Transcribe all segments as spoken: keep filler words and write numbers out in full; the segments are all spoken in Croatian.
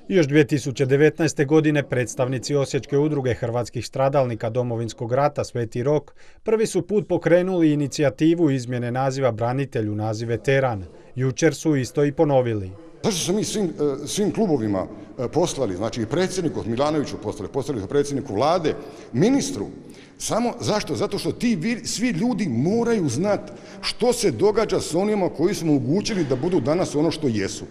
Još dvije tisuće devetnaeste. godine predstavnici Osječke udruge hrvatskih stradalnika Domovinskog rata Sveti Rok prvi su put pokrenuli inicijativu izmjene naziva branitelj u naziv veteran. Jučer su isto i ponovili. Zašto smo mi svim, svim klubovima poslali, znači i predsjedniku Milanoviću poslali, poslali predsjedniku vlade, ministru, samo zašto? Zato što ti svi ljudi moraju znati što se događa s onima koji smo omogućili da budu danas ono što jesu.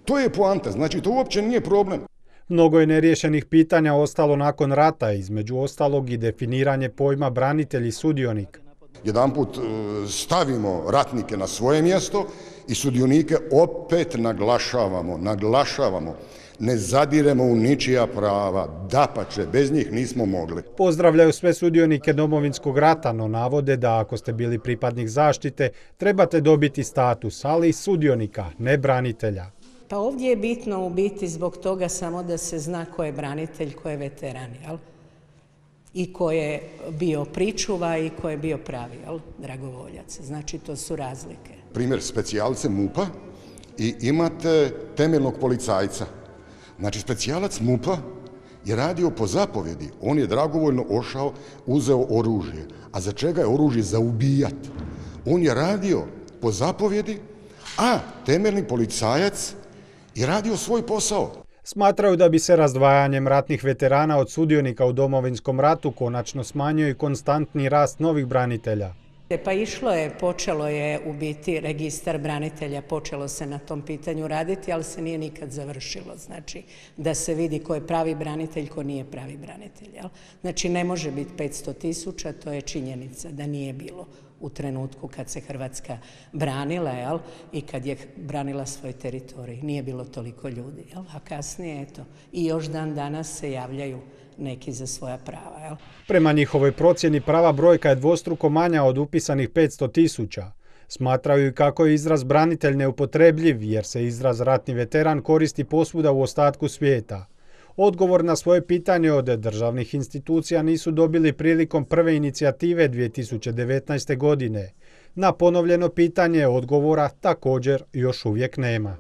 To je poanta, znači to uopće nije problem. Mnogo je neriješenih pitanja ostalo nakon rata, između ostalog i definiranje pojma branitelj i sudionik. Jedanput stavimo ratnike na svoje mjesto i sudionike opet naglašavamo, naglašavamo. Ne zadiremo u ničija prava, dapače, bez njih nismo mogli. Pozdravljaju sve sudionike Domovinskog rata, no navode da ako ste bili pripadnik zaštite, trebate dobiti status, ali i sudionika, ne branitelja. Pa ovdje je bitno u biti zbog toga samo da se zna ko je branitelj, ko je veteran, jel? I ko je bio pričuva i ko je bio pravi, jel? Dragovoljac. Znači to su razlike. Primjer specijalice MUP-a i imate temeljnog policajca. Znači specijalac MUP-a je radio po zapovjedi. On je dragovoljno ošao, uzeo oružje. A za čega je oružje? Za ubijat. On je radio po zapovjedi, a temeljni policajac je radio svoj posao. Smatraju da bi se razdvajanjem ratnih veterana od sudionika u Domovinskom ratu konačno smanjio i konstantni rast novih branitelja. Pa išlo je, počelo je u biti registar branitelja, počelo se na tom pitanju raditi, ali se nije nikad završilo. Znači da se vidi ko je pravi branitelj, ko nije pravi branitelj. Jel? Znači ne može biti petsto tisuća, to je činjenica da nije bilo u trenutku kad se Hrvatska branila, jel? I kad je branila svoj teritorij. Nije bilo toliko ljudi, jel? A kasnije, eto, i još dan danas se javljaju neki za svoja prava. Jel? Prema njihovoj procjeni prava brojka je dvostruko manja od upisanih petsto tisuća. Smatraju i kako je izraz branitelj neupotrebljiv, jer se izraz ratni veteran koristi posvuda u ostatku svijeta. Odgovor na svoje pitanje od državnih institucija nisu dobili prilikom prve inicijative dvije tisuće devetnaeste. godine. Na ponovljeno pitanje odgovora također još uvijek nema.